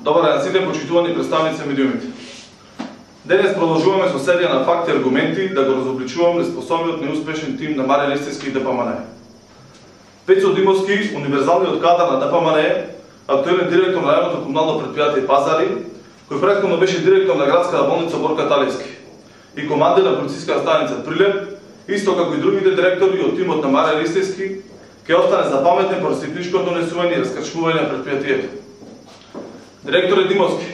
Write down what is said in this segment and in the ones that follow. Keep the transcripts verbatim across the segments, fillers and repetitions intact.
Добар ден сите почитувани представници на медиумите. Денес продолжуваме со серија на факти и аргументи да го разобличувам неспособниот неуспешен тим на Маријан Ристевски и ДПМН. Пецо Димовски, универзалниот кадар на ДПМН, актуелен директор на рајонното комунално предпријатие Пазари, кој претходно беше директор на градската болница Борка Талевски и командир на полициска станица Прилеп, исто како и другите директори од тимот на Маријан Ристевски, ќе остане запаметен по растипничкото несување и раскрчмување на предпријатието. Директоре Димовски,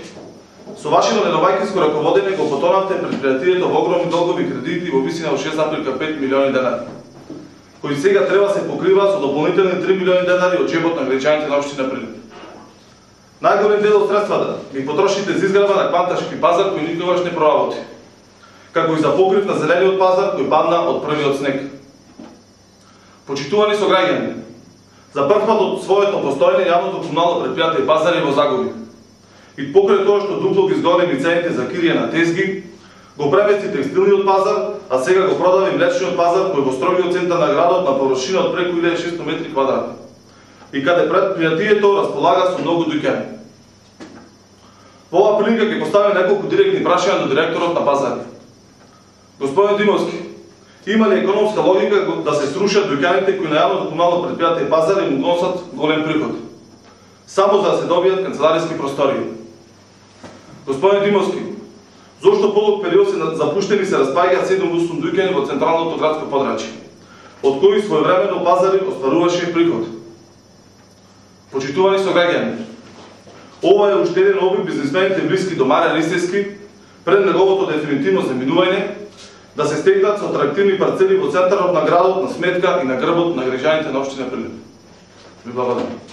со вашето недобајкинско раководење го потонавте предпријатието во огромни долгови кредити во висина од шест зарем пет милиони денари, кои сега треба се покрива со дополнителни три милиони денари од џебот на граѓаните на општина Прилеп. Најголем дел од средствата ги потрошите за изградба на кванташки пазар кој никогаш не проработи, како и за покрив на зелениот пазар кој падна од првиот снег. Почитувани сограѓани, за прв пат од своето постоење јавното комунално предпријатие Пазари е во загуби. И покрај тоа што дупло ги изгодени цените за кирија на тезги, го премести текстилниот пазар, а сега го продави млечниот пазар кој во строгиот центар на градот на површина од преку илјада и шестстотини метри квадратни. И каде предпријатието располага со многу дуќани. Во оваа прилика ќе поставим неколку директни прашања до директорот на Пазари. Господин Димовски, има ли економска логика да се срушат дуќаните кои на јавното комунално предпријатие Пазари му носат голем приход, само за да се добијат канцелариски простории? Господин Димовски, зошто подолг период се запуштени се распаѓаат седум-осум дуќани во централното градско подрачје, од кои своевремено Пазари остваруваше приход? Почитувани сограѓани, ова е уште еден обид бизнисмените блиски до Маријан Ристевски пред неговото дефинитивно заминување да се стекнат со атрактивни парцели во центарот на градот на сметка и на грбот на граѓаните на општина Прилеп. Ви благодарам.